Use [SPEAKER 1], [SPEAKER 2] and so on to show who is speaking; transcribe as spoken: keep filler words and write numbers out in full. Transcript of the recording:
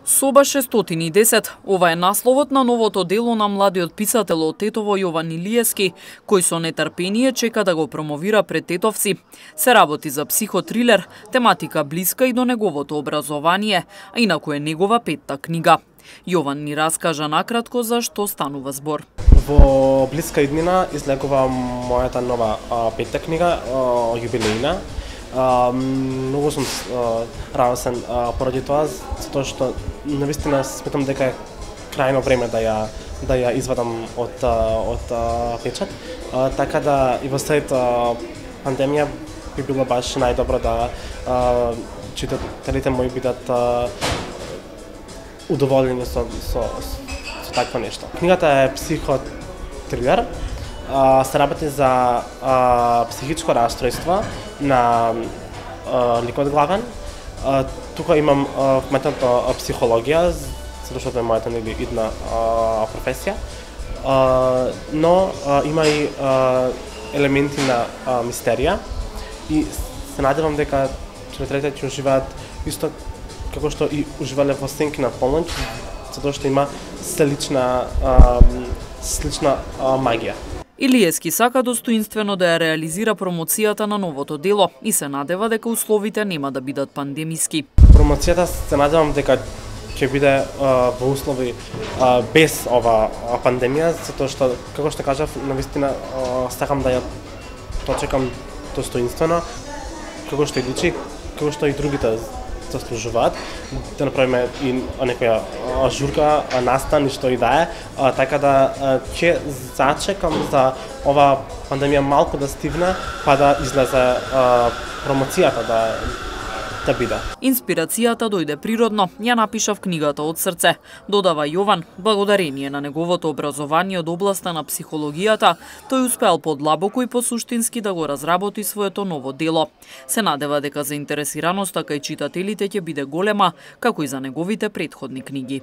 [SPEAKER 1] Соба шестстотини и десет. Ова е насловот на новото дело на младиот писател од Тетово Јован Илиевски, кој со нетрпение чека да го промовира пред тетовци. Се работи за психотрилер, тематика блиска и до неговото образование, а инаку е негова петта книга. Јован ни раскажа накратко за што станува збор.
[SPEAKER 2] Во блиска иднина излегува мојата нова а, петта книга, а, јубилејна. Uh, многу сум uh, радосен uh, поради тоа, затоа што навистина сметам дека е крајно време да ја да ја извадам од uh, од uh, печат. Uh, така да и во след uh, пандемија би било баш најдобро да uh, читателите мои бидат uh, удоволени со, со, со такво нешто. Книгата е психотрилер. Uh, се работи за uh, психичко расстройство на uh, ликот главен. Uh, тука имам uh, вметнато психологија, затоа што е мојата нели идна uh, професија. Uh, но uh, има и uh, елементи на uh, мистерија и се надевам дека читателите ќе уживаат исто како што и уживале во Сенки на полноќ, затоа што има слична uh, слична uh, магија.
[SPEAKER 1] Илиевски сака достоинствено да ја реализира промоцијата на новото дело и се надева дека условите нема да бидат пандемиски.
[SPEAKER 2] Промоцијата се надевам дека ќе биде а, во услови а, без ова а, пандемија, затоа што, како што кажав, навистина сакам да ја дочекам достоинствено, како што и личи, како што и другите заслужуваат, да направиме и некоја журка, настан и што и да е, така да ќе зачекам за ова пандемија малку да стигне, па да излезе промоцијата да да биде.
[SPEAKER 1] Инспирацијата дојде природно, ја напиша в книгата од срце, додава Јован. Благодарение на неговото образование од областа на психологијата, тој успеал подлабоко и посуштински да го разработи своето ново дело. Се надева дека заинтересираноста кај читателите ќе биде голема, како и за неговите претходни книги.